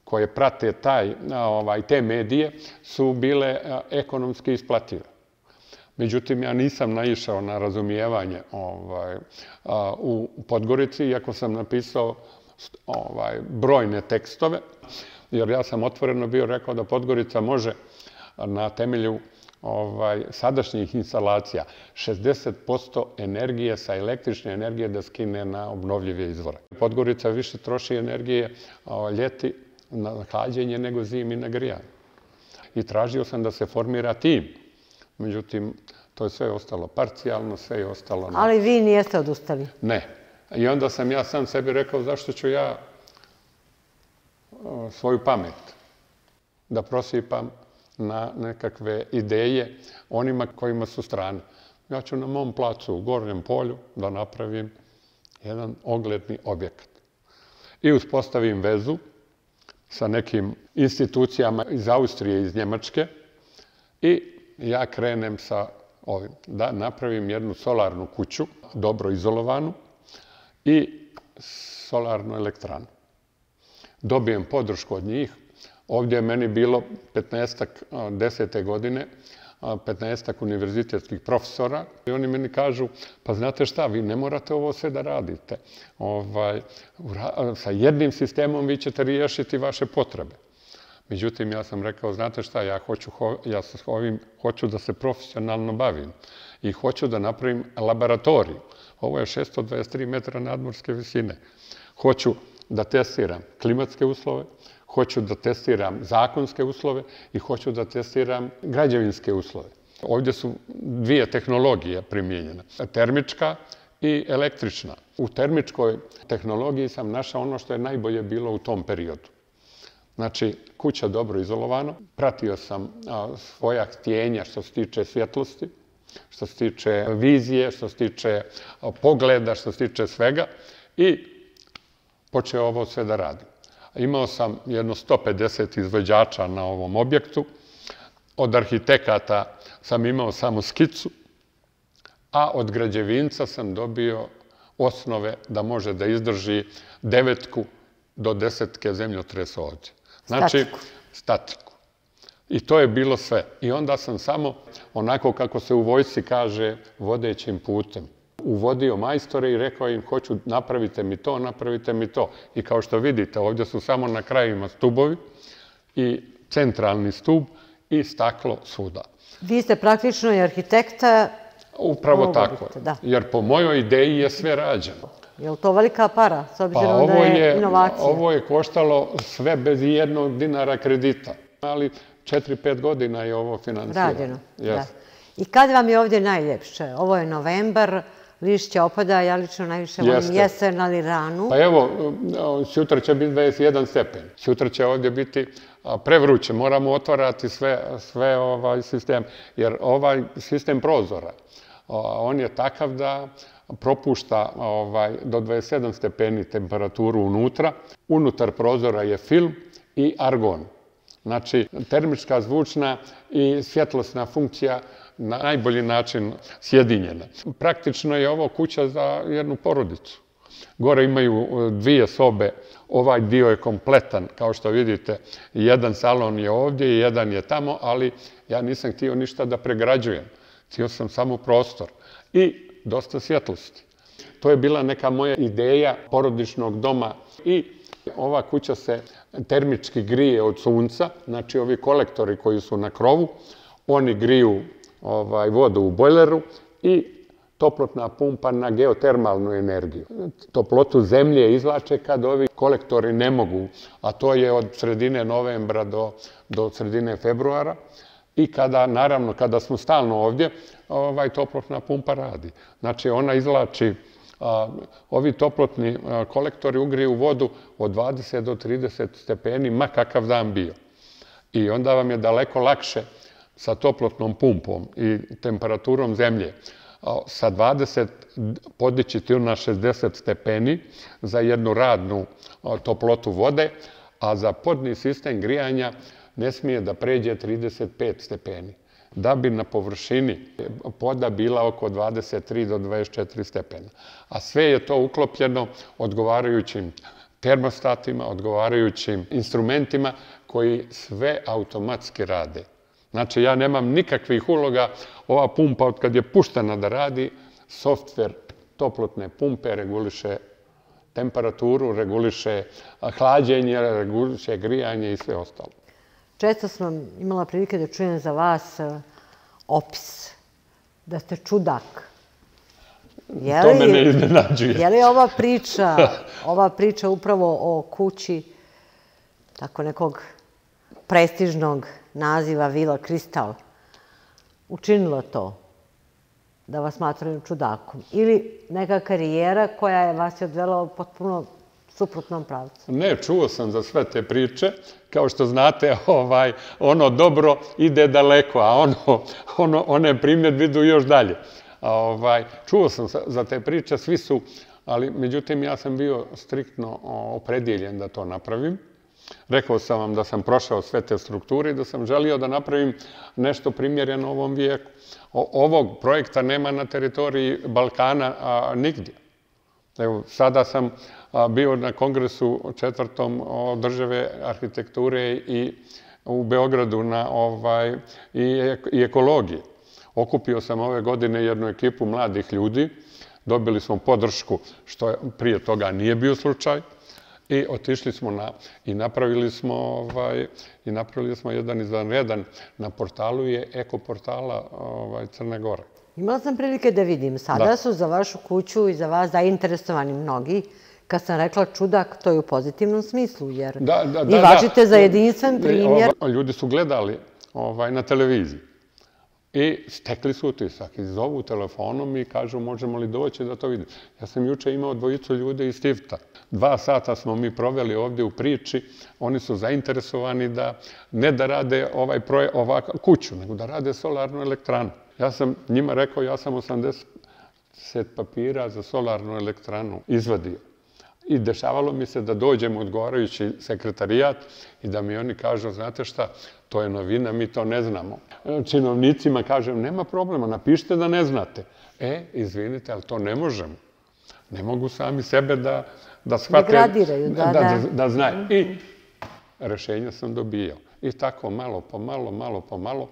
koje prate te medije su bile ekonomski isplative. Međutim, ja nisam naišao na razumijevanje u Podgorici, iako sam napisao brojne tekstove. jer ja sam otvoreno bio rekao da Podgorica može na temelju sadašnjih instalacija šezdeset posto energije sa električne energije da skine na obnovljive izvore. Podgorica više troši energije ljeti na hlađenje nego zimi na grijanje. I tražio sam da se formira tim. Međutim, to je sve ostalo parcijalno, sve je ostalo... Ali vi nijeste odustali? Ne. I onda sam ja sam sebi rekao zašto ću ja svoju pamet da prosipam na nekakve ideje onima kojima su strane. Ja ću na mom placu u Gornjem polju da napravim jedan ogledni objekat. I uspostavim vezu sa nekim institucijama iz Austrije i iz Njemačke i ja krenem sa ovim. Da napravim jednu solarnu kuću, dobro izolovanu i solarnu elektranu. Dobijem podršku od njih. Ovdje je meni bilo petnaestak, desete godine, petnaestak univerzitetskih profesora i oni meni kažu, pa znate šta, vi ne morate ovo sve da radite. Sa jednim sistemom vi ćete riješiti vaše potrebe. Međutim, ja sam rekao, znate šta, ja sa ovim hoću da se profesionalno bavim i hoću da napravim laboratoriju. Ovo je šesto dvadeset tri metra nadmorske visine. Hoću da testiram klimatske uslove, hoću da testiram zakonske uslove i hoću da testiram građevinske uslove. Ovdje su dvije tehnologije primijenjene, termička i električna. U termičkoj tehnologiji sam našao ono što je najbolje bilo u tom periodu. Znači, kuća dobro izolovana, pratio sam svoja htjenja što se tiče svjetlosti, što se tiče vizije, što se tiče pogleda, što se tiče svega i počeo ovo sve da radim. Imao sam jedno sto pedeset izvođača na ovom objektu, od arhitekata sam imao samo skicu, a od građevinca sam dobio osnove da može da izdrži devetku do desetke zemljotresa ovdje. Znači, statiku. I to je bilo sve. I onda sam samo, onako kako se u vojsci kaže, vodećim putem, uvodio majstore i rekao im, hoću, napravite mi to, napravite mi to. I kao što vidite, ovdje su samo na krajima stubovi i centralni stub i staklo svuda. Vi ste praktično i arhitekta. Upravo tako, jer po mojoj ideji je sve rađeno. Je li to velika para, s obzirom da je inovacija? Ovo je koštalo sve bez jednog dinara kredita, ali četiri pet godina je ovo finansirano. Rađeno, da. I kad vam je ovdje najljepše? Ovo je novembar, lišće opada, ja lično najviše volim jesen, ali ranu. Pa evo, sutra će biti dvadeset jedan stepen. Sutra će ovdje biti prevruće, moramo otvarati sve ovaj sistem, jer ovaj sistem prozora, on je takav da propušta do dvadeset sedam stepeni temperaturu unutra. Unutar prozora je film i argon. Znači, termička, zvučna i svjetlosna funkcija na najbolji način sjedinjena. Praktično je ovo kuća za jednu porodicu. Gore imaju dvije sobe, ovaj dio je kompletan, kao što vidite, jedan salon je ovdje i jedan je tamo, ali ja nisam htio ništa da pregrađujem. Htio sam samo prostor i dosta svjetlosti. To je bila neka moja ideja porodičnog doma i ova kuća se termički grije od sunca, znači ovi kolektori koji su na krovu, oni griju vodu u bojleru i toplotna pumpa na geotermalnu energiju. Toplotu zemlje izvlače kad ovi kolektori ne mogu, a to je od sredine novembra do sredine februara. I kada, naravno, kada smo stalno ovdje, toplotna pumpa radi. Znači, ona izvlači, ovi toplotni kolektori ugriju vodu od dvadeset do trideset stepeni, ma kakav dan bio. I onda vam je daleko lakše sa toplotnom pumpom i temperaturom zemlje sa dvadeset podići na šezdeset stepeni za jednu radnu toplotu vode, a za podni sistem grijanja ne smije da pređe trideset pet stepeni, da bi na površini poda bila oko dvadeset tri do dvadeset četiri stepena. A sve je to uklopljeno odgovarajućim termostatima, odgovarajućim instrumentima koji sve automatski rade. Znači, ja nemam nikakvih uloga, ova pumpa od kad je puštena da radi, softver toplotne pumpe reguliše temperaturu, reguliše hlađenje, reguliše grijanje i sve ostalo. Često sam imala prilike da čujem za vas opis, da ste čudak. To me ne iznenađuje. Je li ova priča, ova priča upravo o kući tako nekog prestižnog naziva Vila Kristal učinilo to da vas smatraju čudakom? Ili neka karijera koja je vas odvela u potpuno suprotnom pravcu? Ne, čuo sam za sve te priče. Kao što znate, ono dobro ide daleko, a one primjedbe idu još dalje. Čuo sam za te priče, svi su, ali međutim ja sam bio striktno opredjeljen da to napravim. Rekao sam vam da sam prošao sve te strukture i da sam želio da napravim nešto primjereno ovom vijeku. Ovog projekta nema na teritoriji Balkana nigdje. Evo, sada sam bio na kongresu četvrtom održive arhitekture i u Beogradu i ekologije. Okupio sam ove godine jednu ekipu mladih ljudi, dobili smo podršku, što prije toga nije bio slučaj, i otišli smo i napravili smo i napravili smo jedan izvanredan, na portalu je eko portala Crne Gore. Imala sam prilike da vidim, sada su za vašu kuću i za vas zainteresovani mnogi. Kad sam rekla čudak, to je u pozitivnom smislu, jer i važite za jedinstven primjer. Ljudi su gledali na televiziji i stekli su utisak i zovu telefonom i kažu možemo li doći da to vidim. Ja sam juče imao dvojicu ljudi iz Tifta. Dva sata smo mi proveli ovdje u priči. Oni su zainteresovani da ne da rade kuću, nego da rade solarnu elektranu. Ja sam njima rekao, ja sam osamdeset papira za solarnu elektranu izvadio. I dešavalo mi se da dođem u odgovarajući sekretarijat i da mi oni kažu, znate šta, to je novina, mi to ne znamo. Činovnicima kažem, nema problema, napišite da ne znate. E, izvinite, ali to ne možemo. Ne mogu sami sebe da shvate, da znaju. I rešenja sam dobijao. I tako malo po malo, malo po malo,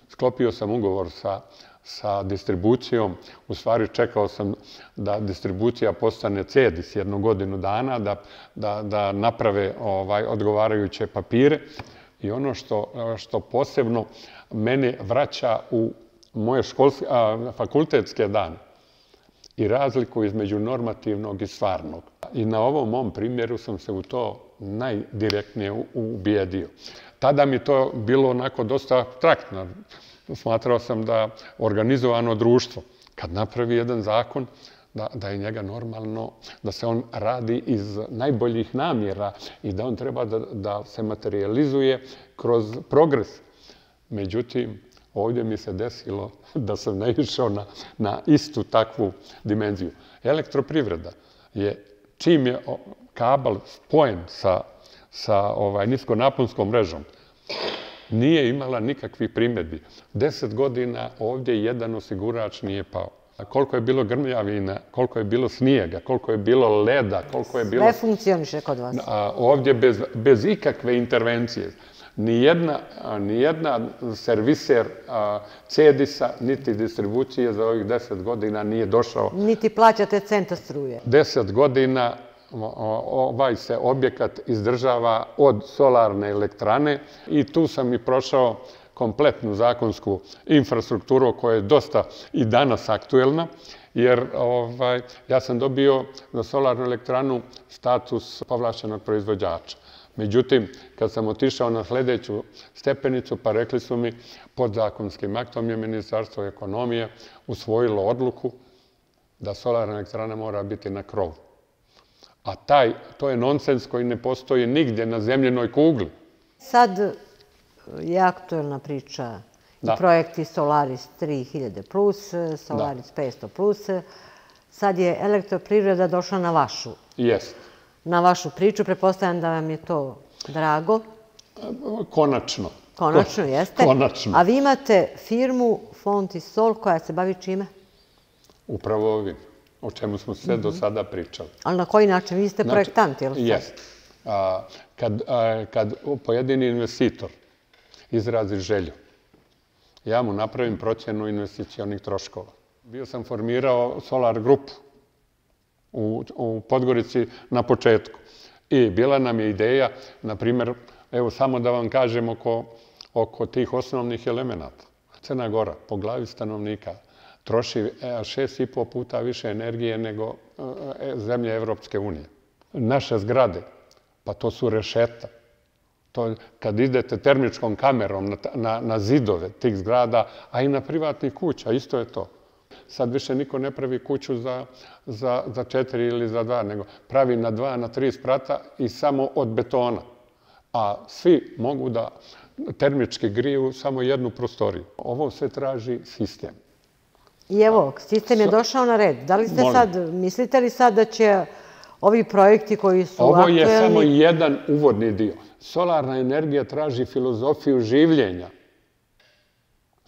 sklopio sam ugovor sa sa distribucijom. U stvari čekao sam da distribucija postane C E D I S jednu godinu dana, da naprave odgovarajuće papire. I ono što posebno mene vraća u moje fakultetske dane i razliku između normativnog i stvarnog. I na ovom mom primjeru sam se u to najdirektnije ubijedio. Tada mi to bilo onako dosta abstraktno. Smatrao sam da organizovano društvo, kad napravi jedan zakon, da je njega normalno, da se on radi iz najboljih namjera i da on treba da se materializuje kroz progres. Međutim, ovdje mi se desilo da sam naišao na istu takvu dimenziju. Elektroprivreda je, čim je kabel spojen sa niskonaponskom mrežom, nije imala nikakvih primjedbi. Deset godina ovdje jedan osigurač nije pao. Koliko je bilo grmljavina, koliko je bilo snijega, koliko je bilo leda, koliko je bilo... Sve funkcioniše kod vas. Ovdje bez ikakve intervencije. Nijedna serviser C E D I S-a, niti distribucije za ovih deset godina nije došao. Niti plaćate centa struje. Deset godina ovaj se objekat izdržava od solarne elektrane i tu sam i prošao kompletnu zakonsku infrastrukturu koja je dosta i danas aktuelna, jer ja sam dobio za solarnu elektranu status povlašćenog proizvođača. Međutim, kad sam otišao na sljedeću stepenicu, pa rekli su mi, podzakonskim aktom je Ministarstvo ekonomije usvojilo odluku da solarna elektrana mora biti na krovu. A taj, to je nonsens koji ne postoji nigdje na zemljenoj kugli. Sad je aktuelna priča i projekti Solaris tri hiljade plus, Solaris petsto plus. Sad je elektroprivreda došla na vašu. Jest. Na vašu priču. Pretpostavljam da vam je to drago. Konačno. Konačno, jeste. Konačno. A vi imate firmu Fontisol koja se bavi čime? Upravo ovim. O čemu smo sve do sada pričali. Ali na koji način? Vi ste projektant, jel' sad? Jest. Kad pojedini investitor izrazi želju, ja mu napravim procjenu investicionih troškova. Bio sam formirao Solar grupu u Podgorici na početku. I bila nam je ideja, na primjer, evo samo da vam kažem oko tih osnovnih elemenata. Crna Gora po glavi stanovnika troši šest i po puta više energije nego zemlje Evropske unije. Naše zgrade, pa to su rešeta. Kad idete termičkom kamerom na zidove tih zgrada, a i na privatnih kuća, isto je to. Sad više niko ne pravi kuću za četiri ili za dva, nego pravi na dva, na tri sprata i samo od betona. A svi mogu da termički griju samo jednu prostoriju. Ovo sve traži sistem. I evo, sistem je došao na red. Da li ste sad, mislite li sad da će ovi projekti koji su aktuelni... Ovo je samo jedan uvodni dio. Solarna energija traži filozofiju življenja.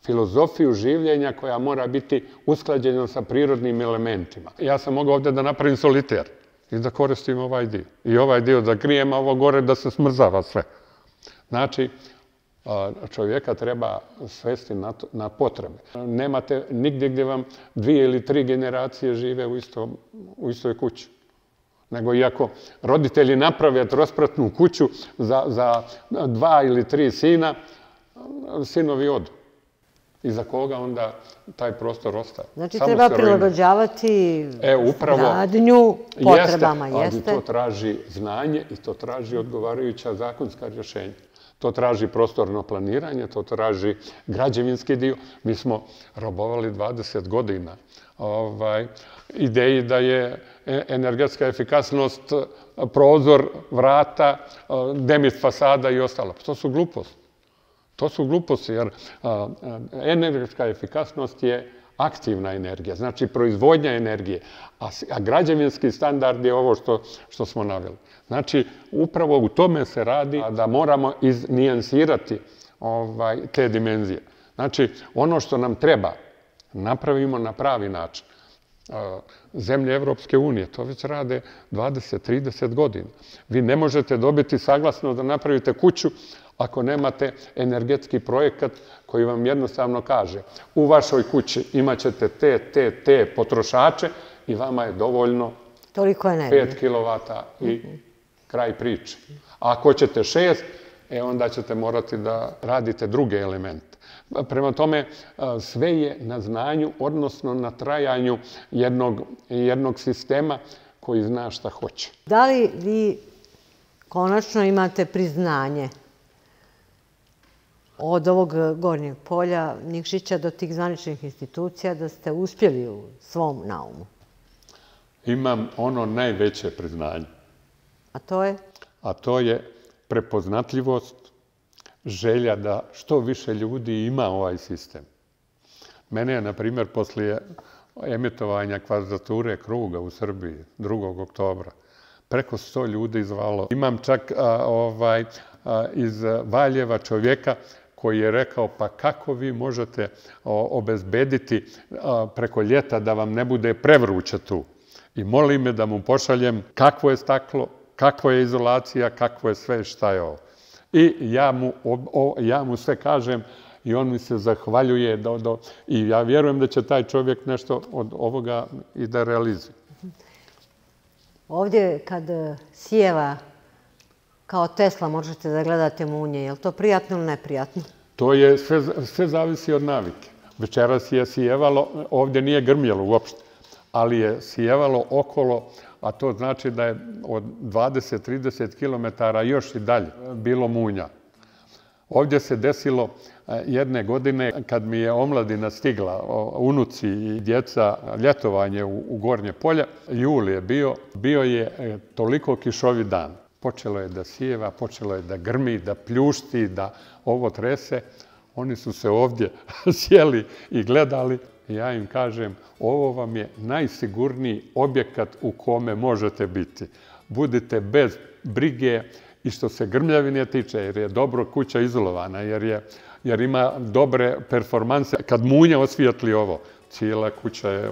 Filozofiju življenja koja mora biti usklađena sa prirodnim elementima. Ja sam mogao ovdje da napravim soliter i da koristim ovaj dio. I ovaj dio da grijem, a ovo gore da se smrzava sve. Znači, čovjeka treba svesti na potrebe. Nemate nigdje gdje vam dvije ili tri generacije žive u istoj kući. Nego i ako roditelji naprave trospratnu kuću za dva ili tri sina, sinovi odu. I za koga onda taj prostor ostaje. Znači treba prilagođavati gradnju potrebama, jeste? Ali to traži znanje i to traži odgovarajuća zakonska rješenja. To traži prostorno planiranje, to traži građevinski dio. Mi smo robovali dvadeset godina ideji da je energetska efikasnost prozor, vrata, demist fasada i ostalo. To su gluposti. To su gluposti, jer energetska efikasnost je aktivna energija, znači proizvodnja energije, a građevinski standard je ovo što smo naveli. Znači, upravo u tome se radi da moramo iznijansirati te dimenzije. Znači, ono što nam treba, napravimo na pravi način. Zemlje Evropske unije to već rade dvadeset do trideset godina. Vi ne možete dobiti saglasnost da napravite kuću ako nemate energetski projekat koji vam jednostavno kaže u vašoj kući imat ćete te, te, te potrošače i vama je dovoljno pet kilovata i kraj priče. A ako ćete šest, e onda ćete morati da radite druge elemente. Prema tome, sve je na znanju, odnosno na trajanju jednog sistema koji zna šta hoće. Da li vi konačno imate priznanje od ovog Gornjeg polja, Nikšića, do tih zvaničnih institucija, da ste uspjeli u svom naumu? Imam ono najveće priznanje. A to je? A to je prepoznatljivost, želja da što više ljudi ima ovaj sistem. Mene je, na primjer, poslije emitovanja kvadrature kruga u Srbiji, drugog oktobra, preko sto ljudi zvalo. Imam čak iz Valjeva čovjeka koji je rekao, pa kako vi možete obezbediti preko ljeta da vam ne bude prevruće tu. I moli me da mu pošaljem kakvo je staklo, kakva je izolacija, kakvo je sve, šta je ovo. I ja mu sve kažem i on mi se zahvaljuje i ja vjerujem da će taj čovjek nešto od ovoga i da realizuje. Ovdje kad sjeva kao Tesla možete da gledate munje, je li to prijatno ili neprijatno? To je, sve zavisi od navike. Večeras je sjevalo, ovdje nije grmjelo uopšte, ali je sjevalo okolo, a to znači da je od dvadeset do trideset kilometara još i dalje bilo munja. Ovdje se desilo jedne godine kad mi je omladina stigla, unuci i djeca, ljetovanje u Gornje polje, jul je bio, bio je toliko kišovi dan. Počelo je da sjeva, počelo je da grmi, da pljušti, da ovo trese. Oni su se ovdje sjeli i gledali. Ja im kažem, ovo vam je najsigurniji objekat u kome možete biti. Budite bez brige i što se grmljavine tiče, jer je dobro kuća izolovana, jer ima dobre performanse. Kad munja osvijetli ovo, cijela kuća je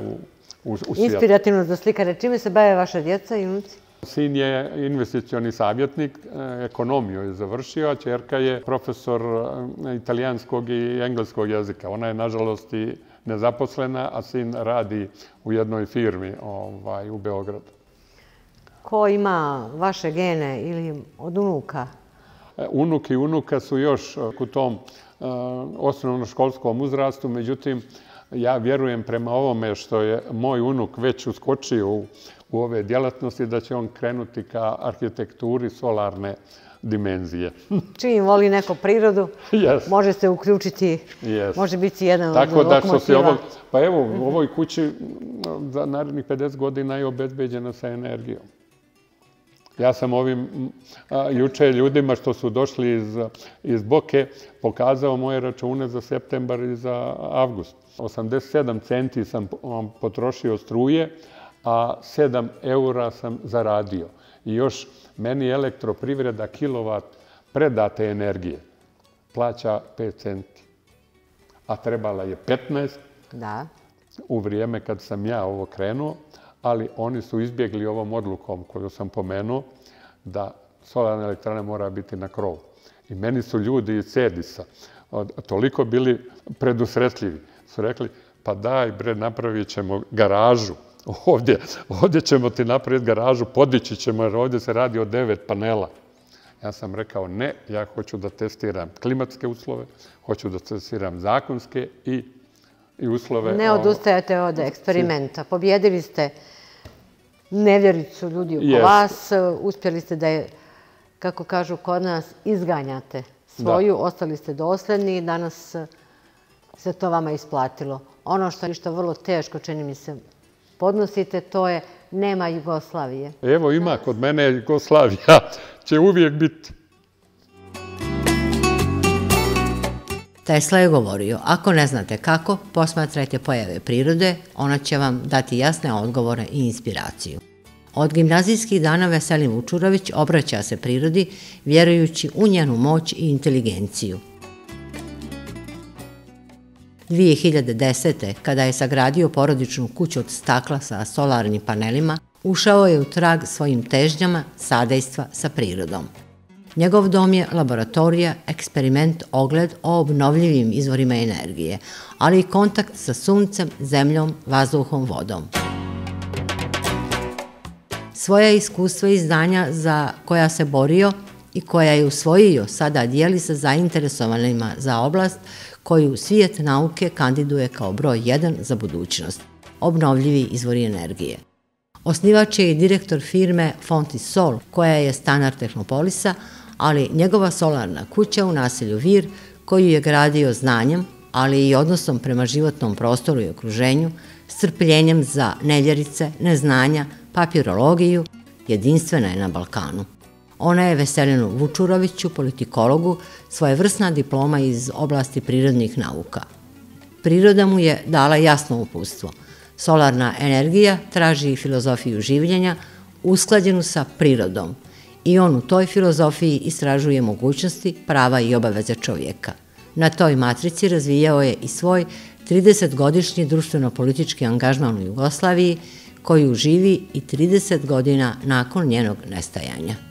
u svijetlu. Inspirativno za slikare. Čime se bave vaša djeca i unuci? Sin je investicioni savjetnik, ekonomiju je završio, a ćerka je profesor italijanskog i engleskog jezika. Ona je, nažalost, i nezaposlena, a sin radi u jednoj firmi u Beogradu. Ko ima vaše gene ili od unuka? Unuk i unuka su još u tom osnovnoškolskom uzrastu, međutim, ja vjerujem prema ovome što je moj unuk već uskočio u, u ove djelatnosti, da će on krenuti ka arhitekturi solarne dimenzije. Čim voli neko prirodu, yes. može se uključiti, yes. može biti jedan Tako od da što se lokomotiva. Ovo, pa evo, u ovoj kući za narednih pedeset godina je obezbeđena sa energijom. Ja sam ovim a, juče ljudima što su došli iz, iz Boke pokazao moje račune za septembar i za avgust. osamdeset sedam centi sam potrošio struje, a sedam eura sam zaradio. I još meni elektroprivreda kilovat predate energije plaća pet centi, a trebala je petnaest da. U vrijeme kad sam ja ovo krenuo, ali oni su izbjegli ovom odlukom koju sam pomenuo da solarna elektrana mora biti na krovu. I meni su ljudi iz Cedisa toliko bili predusretljivi. Su rekli, pa daj bre, napravit ćemo garažu. Ovdje, ovdje ćemo ti napraviti garažu, podići ćemo jer ovdje se radi o devet panela. Ja sam rekao ne, ja hoću da testiram klimatske uslove, hoću da testiram zakonske i, i uslove. Ne odustajete od eksperimenta. Pobjedili ste nevjericu ljudi oko yes. vas, uspjeli ste da je, kako kažu kod nas, izganjate svoju, da. Ostali ste dosledni i danas se to vama isplatilo. Ono što je što vrlo teško, čini mi se, podnosite, to je nema Jugoslavije. Evo ima, kod mene Jugoslavija će uvijek biti. Tesla je govorio, ako ne znate kako, posmatrajte pojave prirode, ona će vam dati jasne odgovore i inspiraciju. Od gimnazijskih dana Veselin Vučurović obraća se prirodi, vjerujući u njenu moć i inteligenciju. dvije hiljade desete. kada je sagradio porodičnu kuću od stakla sa solarnim panelima, ušao je u trag svojim težnjama sadejstva sa prirodom. Njegov dom je laboratorija, eksperiment, ogled o obnovljivim izvorima energije, ali i kontakt sa suncem, zemljom, vazduhom, vodom. Svoja iskustva i znanja za koja se borio i koja je usvojio sada dijeli sa zainteresovanima za oblast koju svijet nauke kandiduje kao broj jedan za budućnost, obnovljivi izvori energije. Osnivač je i direktor firme Fontisol, koja je stanar Tehnopolisa, ali njegova solarna kuća u naselju Vir, koju je gradio znanjem, ali i odnosom prema životnom prostoru i okruženju, strpljenjem za nevjerice, neznanja, papirologiju, jedinstvena je na Balkanu. Ona je Veselinu Vučuroviću, politikologu, svojevrsna diploma iz oblasti prirodnih nauka. Priroda mu je dala jasno uputstvo. Solarna energija traži filozofiju življenja usklađenu sa prirodom i on u toj filozofiji istražuje mogućnosti, prava i obaveze čovjeka. Na toj matrici razvijao je i svoj tridesetgodišnji društveno-politički angažman u Jugoslaviji, koju živi i trideset godina nakon njenog nestajanja.